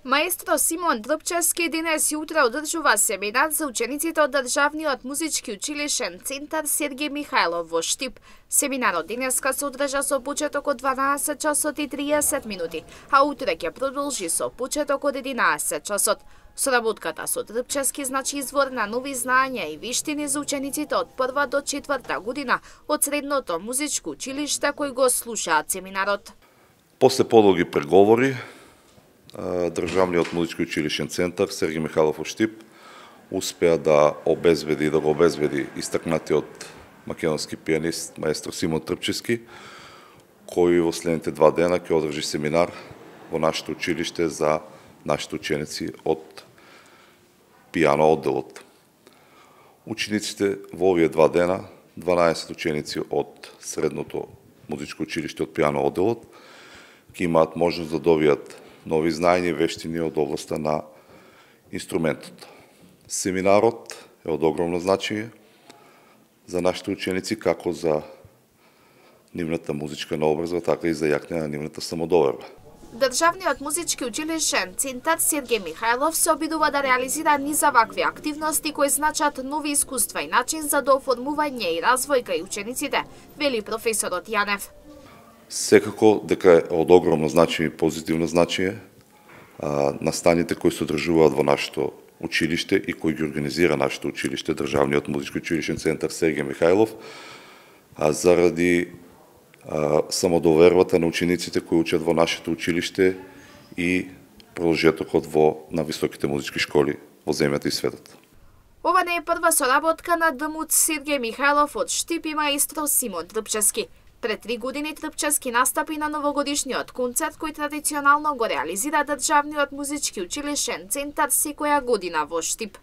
Маестро Симон Трпчевски денес јутро одржува семинар за учениците од Државниот музички училишен центар Сергеј Михајлов во Штип. Семинарот денеска се одржа со почеток од 12 часот и 30 минути, а утре ќе продолжи со почеток од 11 часот. Соработката со Трпчевски значи извор на нови знаења и виштини за учениците од 1 до 4 година од средното музичко училиште кои го слушаат семинарот. После подолги преговори, Државниот музички училишен центар Сергеј Михајлов во Штип успеа да го обезбеди истакнатиот македонски пианист маестро Симон Трпчевски, кој во следните 2 дена ќе одржи семинар во нашето училиште за нашите ученици од пијано одделот. Учениците во овие 2 дена, 12 ученици од средното музичко училиште од пијано одделот, ќе имаат можност да добијат нови знаења и вештини од областа на инструментот. Семинарот е од огромно значење за нашите ученици, како за нивната музичка наобразба, така и за јакнење на нивната самодоверба. Државниот музички училишен центар Сергеј Михајлов се обидува да реализира низ вакви активности кои значат нови искуства и начин за дооформување и развој кај учениците, вели професорот Јанев. Секако дека е од огромно значење и позитивно значење настаните кои се одржуваат во нашето училиште и кои ги организира нашето училиште, Државниот музички училишен центар Сергеј Михајлов, заради самодовербата на учениците кои учат во нашето училиште и продолжетокот на високите музички школи во земјата и светот. Ова не е прва соработка на ДМУЦ Сергеј Михајлов од Штип и маестро Симон Трпчевски. Пред 3 години Трпчевски настапи на новогодишниот концерт кој традиционално го реализира Државниот музички училишен центар секоја година во Штип.